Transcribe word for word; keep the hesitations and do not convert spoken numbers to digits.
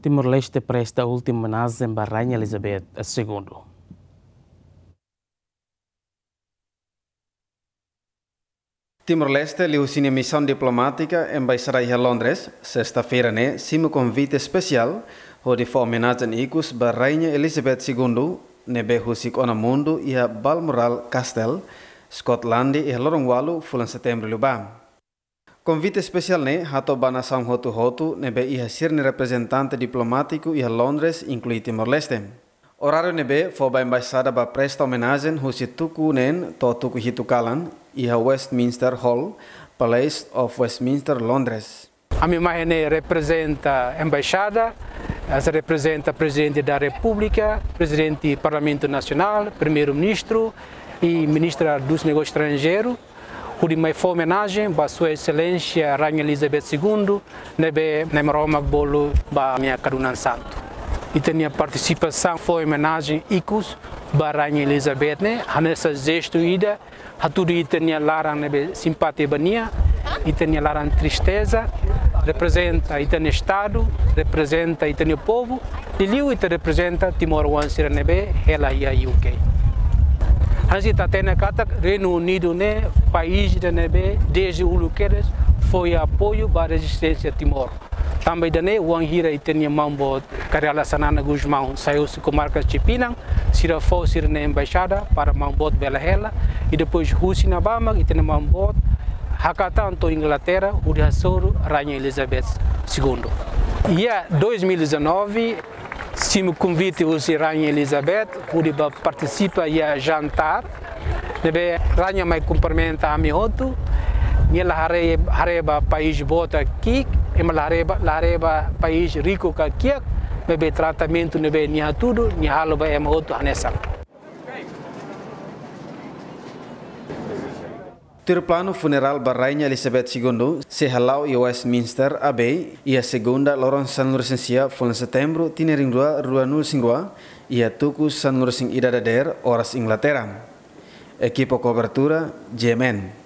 Timor-Leste presta última omenajen ba Rainha Elizabeth Segundo. Timor-Leste liuhusi nia misaun diplomátika Embaixada iha Londres, sesta-feira ne'e simu konvite espesiál hodi fó omenajen ikus ba Rainha Elizabeth Segundo, ne'ebé husik ona mundu iha Balmoral Castle, Scotland, iha loron ualu fulan Setembru liubá. Konvite espesiál ne'e hato'o ba nasaun hotu-hotu ne'ebé iha sira-nia reprezentante diplomátiku iha Londres, inklui Timor-Leste. Oráriu ne'ebé fó ba embaixada ba presta omenajen husi tuku neen to'o tuku hitu kalan iha Westminster Hall, Palace of Westminster, Londres. Ami mai ne'e reprezenta embaixada, eh, reprezenta Prezidente da Repúblika, Prezidente Parlamentu Nasionál, Primeiru-Ministru i Ministra dos Negósius Estranjeirus, hodi mai fó omenajen ba Sua Exelénsia Rainha Elizabeth Segundo, ne'ebé Nai Maromak bolu ba nia kadunan santu. Ita-nia partisipasaun fó omenajen ikus ba Rainha Elizabeth ne'e hanesan jestu ida, hatudu ita-nia laran ne'ebé simpátiku ba nia, ita-nia laran tristeza, reprezenta ita-nia Estadu, reprezenta ita-nia povu, liuliu ita reprezenta timoroan sira ne'ebé hela iha U K. Hanesan ita hatene katak Reinu Unidu ne'e país ida ne'ebé dezde uluk kedas fó apoiu ba rezisténsia Timor. Tanba ida-ne'e, wainhira ita-nia maun-boot Kay Rala Xanana Gusmão sai husi komarka Sipinang, sira fó sira-nia embaixada para maun-boot bele hela, i depois husi ne'ebá mak ita-nia maun-boot hakatan to'o Inglaterra, hodi hasoru Rainha Elizabeth Segundo. Iha dois mil e dezanove, simu konvite husi Rainha Elizabeth, hodi ba partisipa iha jantár ne'ebé Rainha mai kumprimenta ami hotu. Nia la haree, haree ba país boot ka ki'ik, ema la haree ba, la haree ba país riku ka kiak, maibé tratamentu ne'ebé nia hatudu, nia halo ba ema hotu hanesan. Tuir planu, funerál ba Rainha Elizabeth Segundo sei hala'o iha Westminster Abbey, iha Segunda, loron sanulu-resin-sia fulan Setembru, tinan rihun rua ruanulu-resin-rua, iha tuku sanulu-resin-ida dadeer, oras Inglaterra. Ekipa kobertura, G M N.